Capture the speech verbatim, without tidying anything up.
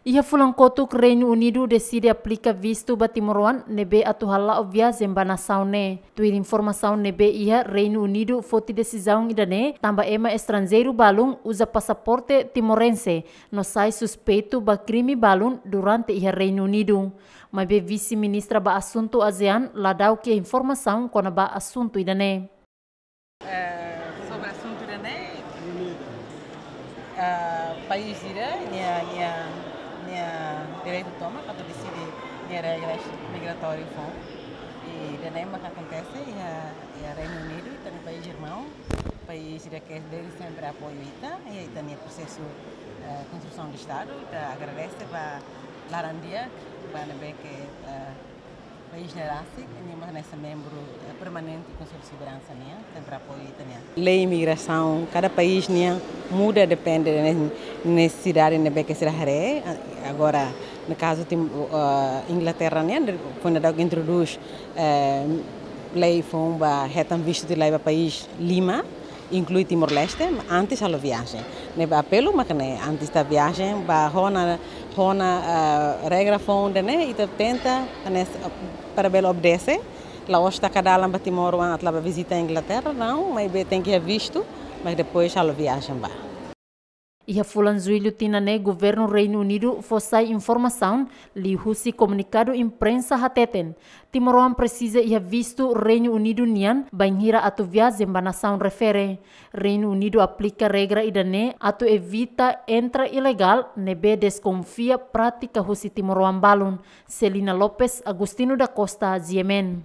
Iha fulan kotuk, Reinu Unidu deside aplika vistu ba timoroan ne'ebé atu hala'o viajen ba nasaun ne'e. Tuir informasaun ne'ebé iha, Reinu Unidu foti desizaun ida-ne'e tanba ema estranjeiru balun uza pasaporte timorense no sai suspeitu ba krime balun durante iha Reinu Unidu. Maibé Vise-Ministra ba Asuntu ASEAN la da'u ke informasaun kona-ba asuntu ida-ne'e. Eh, sobre asuntu ida-ne'e, eh, país ida nia, nia, nia direitu tomak atu deside nia regras migratóriu foun. I ida-ne'e maka akontese iha, iha Reinu Unidu, ita-nia país irmaun, país ida ke desde sempre apoia ita, iha ita-nia prosesu, eh, konstrusaun de Estadu. Ita agradese ba laran di'ak, ba ne'ebé ke, eh, país ne'e rasik, nia mak hanesan membru, eh, permanente Konsellu Seguransa nian, sempre apoia ita-nia lei migrasaun. Kada país nian muda depende de ne-, nesesidade ne'ebé ke sira haree. Agora, no kazu Tim-, eh, Inglaterra nian, de-, foin daudauk introdús, eh, lei foun ba hetan vistu tilai ba país lima, inklui Timor-Leste, antes halo viajen. Ne'ebé apelu mak ne'e, antes ita viajen, ba rona, rona, ah, regra foun ida-ne'e, ita tenta, hanesan, ah, para bele obedese, la'ós taka dalan ba timoroan atu la'o ba vizita Inglaterra, não, maibé tenke iha vistu, mas depois halo viajen ba. Iha fulan Jullu tinan ne'e, Governu Reinu Unidu fó sai informasaun liuhusi komunikadu imprensa hateten, timoroan presiza iha vistu Reinu Unidu nian bainhira atu viajen ba nasaun refere. Reinu Unidu aplika regra ida-ne'e atu evita entra ilegál ne'ebé deskonfia prátika husi timoroan balun. Celina Lopes, Agostinho da Costa, G M N.